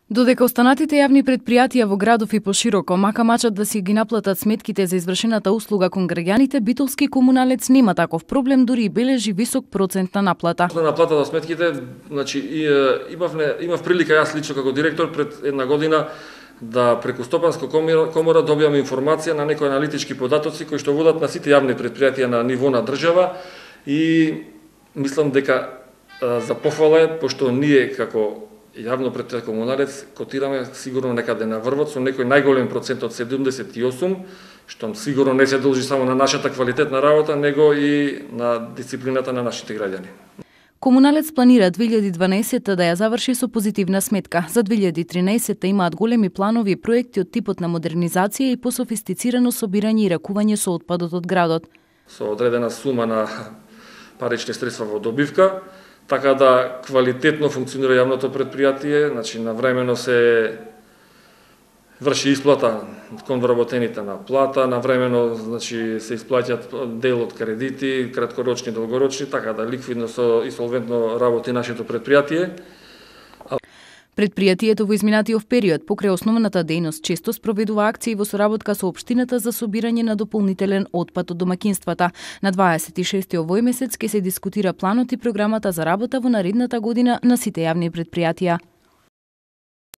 Додека останатите јавни предпријатија во градов и пошироко мака мачат да си ги наплатат сметките за извршената услуга кон граѓаните, Битолски комуналец нема таков проблем, дури и бележи висок процент на наплата. На наплата за сметките, значи имав прилика јас лично како директор пред една година да преку Стопанска комора добијам информација на некои аналитички податоци кои што водат на сите јавни предпријатија на ниво на држава и мислам дека за пофала е, пошто ние како јавно предпријатие комуналец котираме сигурно некаде на врвот со некој најголем процент од 78, што сигурно не се должи само на нашата квалитетна работа, него и на дисциплината на нашите граѓани. Комуналец планира 2012 да ја заврши со позитивна сметка. За 2013 имаат големи планови и проекти од типот на модернизација и пософистицирано собирање и ракување со отпадот од градот. Со одредена сума на парични средства во добивка, така да квалитетно функционира јавното предпријатие, значи навремено се врши исплата кон вработените на плата, навремено значи се исплаќаат дел од кредити, краткорочни, долгорочни, така да ликвидно и солвентно работи нашето предпријатие. Предпријатието во изминатиот период покрај основната дејност често спроведува акции во соработка со општината за собирање на дополнителен отпад од домаќинствата. На 26 овој месец ќе се дискутира планот и програмата за работа во наредната година на сите јавни предпријатија.